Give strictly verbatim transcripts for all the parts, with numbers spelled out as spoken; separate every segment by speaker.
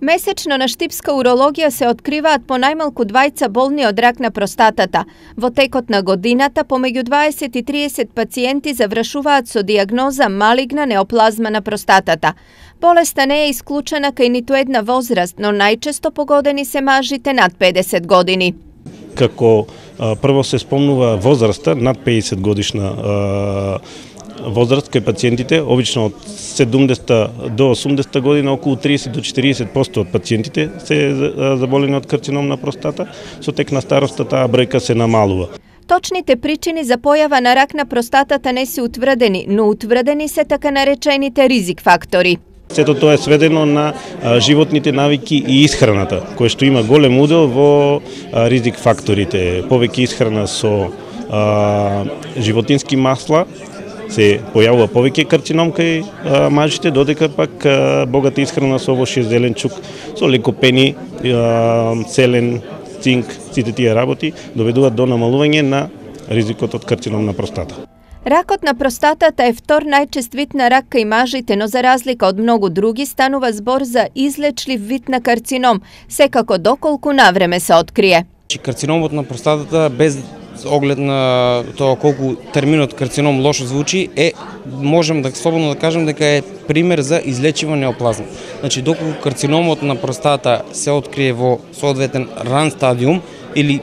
Speaker 1: Месечно на штипска урологија се откриваат по најмалку двајца болни од рак на простатата. Во текот на годината помеѓу дваесет и триесет пациенти завршуваат со дијагноза малигна неоплазма на простатата. Болеста не е исклучена кај ниту една возраст, но најчесто погодени се мажите над педесет години.
Speaker 2: Како а, прво се спомнува возраста над педесет годишна а, возраст кај пациентите, обично од седумдесет до осумдесет година, околу триесет до четириесет проценти од пациентите се заболени од карцином на простата, со тек на староста таа бројка се намалува.
Speaker 1: Точните причини за појава на рак на простатата не се утврдени, но утврдени се така наречените ризик фактори.
Speaker 2: Сето тоа е сведено на а, животните навики и исхраната, кој што има голем удел во а, ризик факторите. Повеќе исхрана со а, животински масла, се појавува повеќе карцином кај а, мажите, додека пак а, богата исхрана со овошје зеленчук, со лекопени, а, селен, цинк, сите тие работи доведуваат до намалување на ризикот од карцином на простата.
Speaker 1: Ракот на простатата е втор најчест вид на рак кај мажите, но за разлика од многу други станува збор за излечлив вид на карцином, секако доколку навреме се открие.
Speaker 3: Карциномот на простатата, без оглед на тоа колку терминот карцином лошо звучи, е можем да слободно да кажем дека е пример за излечива неоплазма. Значи доколку карциномот на простата се открие во соодветен ран стадиум или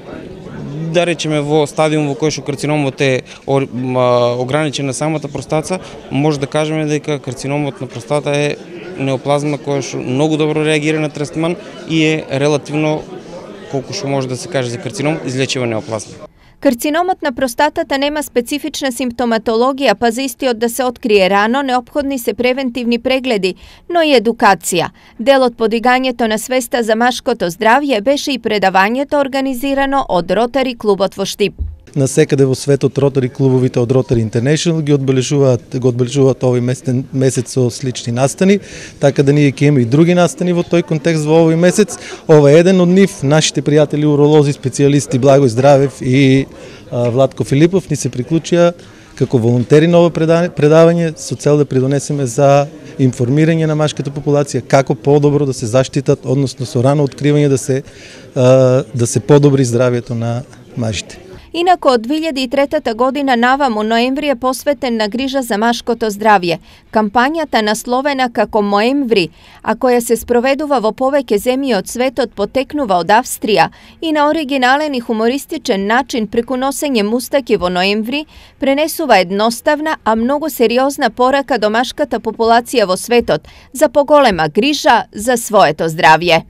Speaker 3: да речеме во стадиум во кој што карциномот е ограничен на самата простата, може да кажеме дека карциномот на простата е неоплазма која што многу добро реагира на третман и е релативно, колку што може да се каже за карцином, излечива неоплазма.
Speaker 1: Карциномот на простатата нема специфична симптоматологија, па за истиот да се открие рано, неопходни се превентивни прегледи, но и едукација. Дел од подигањето на свеста за машкото здравје беше и предавањето организирано од Ротари клубот во Штип.
Speaker 4: Насекаде во светот Ротари клубовите од Rotary International ги одбележуваат, го одбележуваат овој месец, месец со слични настани, така да ние ќе имаме и други настани во тој контекст во овој месец. Ова е еден од нив, нашите пријатели уролози, специјалисти Благој Здравев и а, Владко Филипов ни се приклучија како волонтери на ова предавање со цел да придонесеме за информирање на машката популација како подобро да се заштитат, односно со рано откривање да се а, да се подобри здравјето на мажите.
Speaker 1: Инако од две илјади и трета година наваму ноември е посветен на грижа за машкото здравје. Кампањата насловена како Моември, а која се спроведува во повеќе земји од светот, потекнува од Австрија и на оригинален и хумористичен начин преку носење мустаки во ноември пренесува едноставна, а многу сериозна порака до машката популација во светот за поголема грижа за своето здравје.